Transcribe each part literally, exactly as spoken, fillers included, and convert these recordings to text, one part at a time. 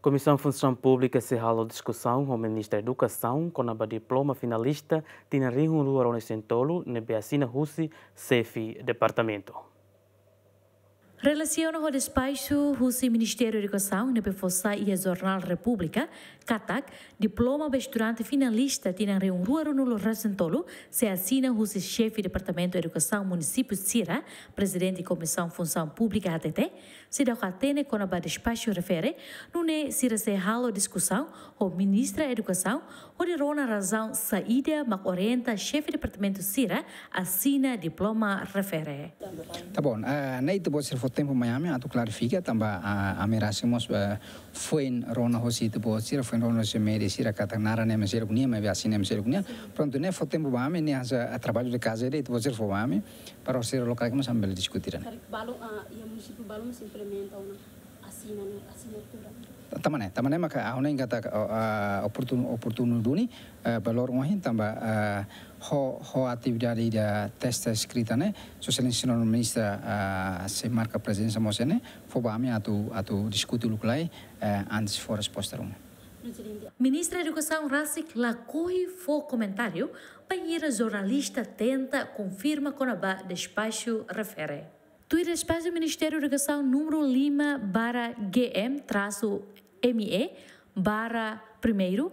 Komisaun Funsaun Públika sei halo diskusaun ho Ministra Edukasaun kona-ba diploma finalista tinan rihun rua ruanulu-resin-tolu ne'ebé asina husi xefe departamentu. Relasiona ho despaxu husi Ministériu Edukasaun ne'ebé fó sai iha Jornál Repúblika, katak diploma ba estudante finalista tinan rihun rua ruanulu-resin-tolu sei asina husi xefe Departamentu Edukasaun munisípiu sira, Prezidente Komisaun Funsaun Públika hatete, seidauk hatene kona-ba despaxu refere, nune'e sira sei halo diskusaun ho Ministra Edukasaun, hodi rona razaun saida mak orienta xefe departamentu sira asina diploma refere. Tá bom, eh, ne'e ita-boot sira fó tempu mai ami atu klarifika, tanba, ah, ami rasik mós, eh, foin rona hosi ita-boot sira, foin rona hosi média sira katak naran ne'e mak seluk nian, maibé asina ne'e mak seluk nian. Prontu, ne'e fó tempu ba ami, ne'e hanesan, ah, traballu de kaza ida ita-boot sira fó ba ami, para sira lokaik mós ami bele diskuti ida-ne'e. Karik balun, ah, iha munisípiu balun mós implementa ona asina, asinatura. Tanba ne'e, tanba ne'e maka ha'u hanoin katak, ah, oportunu, oportunu duni, eh, ba loron ohin tanba, eh, ho, ho atividade ida teste eskrita ne'e, Sua Exelénsia Señór Ministra, eh, sei marka prezensa mós iha ne'e, fó ba ami atu, atu diskuti uluk lai, eh, antes fó resposta ruma. Ministra Edukasaun rasik lakohi fó komentáriu bainhira jornalista tenta konfirma kona-ba despaxu refere. Tuir despaxu Ministériu Edukasaun númeru lima barra G M trasu M E barra primeiru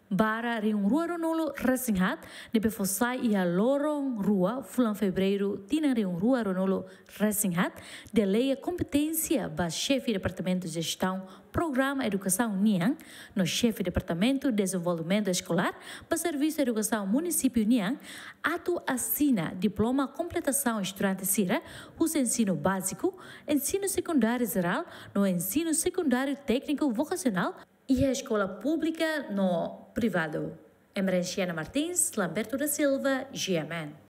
barra rihun rua ruanulu-resin-haat, ne'ebé fó sai iha loron rua fulan Fevereiru tinan rihun rua ruanulu-resin-haat, deleia kompeténsia ba xefe Departamentu Jestaun Programa Edukasaun nian no xefe Departamentu Dezenvolvimentu Eskolár ba Servisu Edukasaun munisípiu nian atu asina diploma kompletasaun estudante sira husi ensinu báziku, ensinu sekundáriu jerál no ensinu sekundáriu tékniku vokasionál iha eskola públika no privadu. Emerenciana Martins, Lamberto da Silva, G M N.